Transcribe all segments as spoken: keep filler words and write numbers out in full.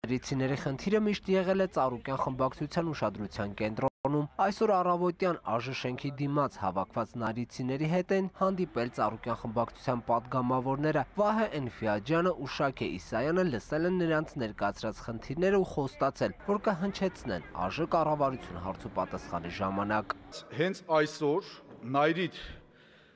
Ներիցիների խնդիրը միշտ եղել է Ծառուկյան խմբակցության ուշադրության կենտրոնում։ Այսօր առավոտյան ԱԺ շենքի դիմաց հավաքված նարիցիների հետ են հանդիպել Ծառուկյան խմբակցության պատգամավորները։ Վահե Էնֆիաջյանը ու Շաքե Իսայանը լսել են նրանց ներկայացրած խնդիրները ու խոստացել, որ կհնչեցնեն ԱԺ կառավարություն հարցուպատասխանի ժամանակ։ Հենց այսօր Նայրիթ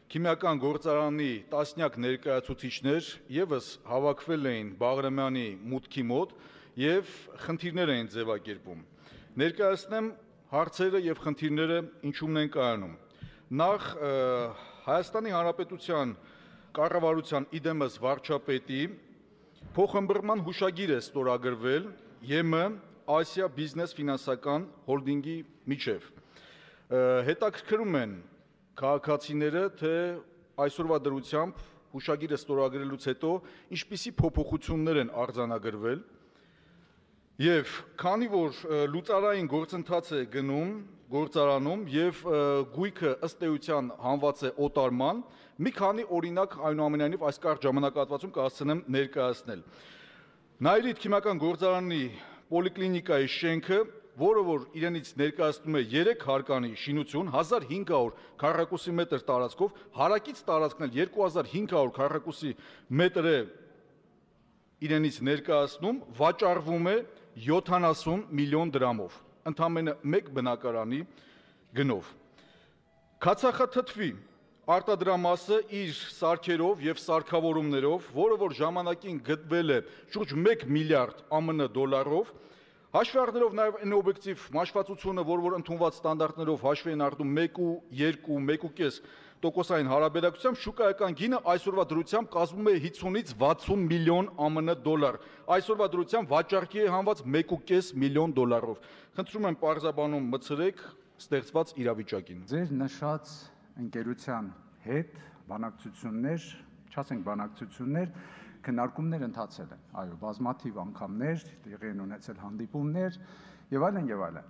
քիմիական գործարանի տասնյակ ներկայացուցիչներ եւս հավաքվել էին Բաղրամյանի մուտքի մոտ եւ խնդիրներ էին ձևակերպում։ Ներկայացնեմ հարցերը եւ խնդիրները ինչումն են կայանում։ Նախ Հայաստանի Հանրապետության կառավարության իդեմս վարչապետի փոխըմբռնման հուշագիր է ստորագրվել ԵՄ Ասիա բիզնես ֆինանսական հոլդինգի միջև։ Հետաքրքրում են քաղաքացիները, թե այսօրվա դրությամբ հուշագիրը ստորագրելուց հետո ինչպիսի փոփոխություններ են արձանագրվել եւ քանի որ լուծարային գործընթաց է գնում գործարանում եւ գույքը ըստ էության հանված է օտարման, մի քանի օրինակ այնուամենայնիվ այս կարճ ժամանակահատվածում կհասցնեմ ներկայացնել։ Նայրիթ քիմիական գործարանի պոլիկլինիկայի շենքը, որը որ իրենից ներկայացնում է երեք հարկանի շինություն, հազար հինգ հարյուր քառակուսի մետր տարածքով, հարակից տարածքն էլ երկու հազար հինգ հարյուր քառակուսի մետր է իրենից ներկայացնում, վաճառվում է յոթանասուն միլիոն դրամով, ընդամենը մեկ բնակարանի գնով։ Քացախաթթվի արտադրամասը իր սարքերով եւ սարքավորումներով, որը որ ժամանակին գտվել է շուրջ մեկ միլիարդ ԱՄՆ դոլարով, հաշվի առնելով նաև այն օբյեկտիվ մաշվածությունը, որ որ ընդունված ստանդարտներով հաշվի են առնում մեկ ու երկու, մեկ ու կես տոկոսային հարաբերակցությամբ շուկայական գինը այսօրվա դրությամբ կազմում է հիսունից վաթսուն միլիոն ԱՄՆ դոլար։ Այսօրվա դրությամբ վաճառքի է հանված մեկ ու կես միլիոն դոլարով։ Խնդրում եմ պարզաբանում մցրեք ստեղծված իրավիճակին։ Ձեր նշած ընկերության հետ բանակցություններ, չասենք բանակցություններ, քննարկումներ ընթացել են, այո, բազմաթիվ անգամներ տեղի են ունեցել հանդիպումներ եւ այլն եւ այլն։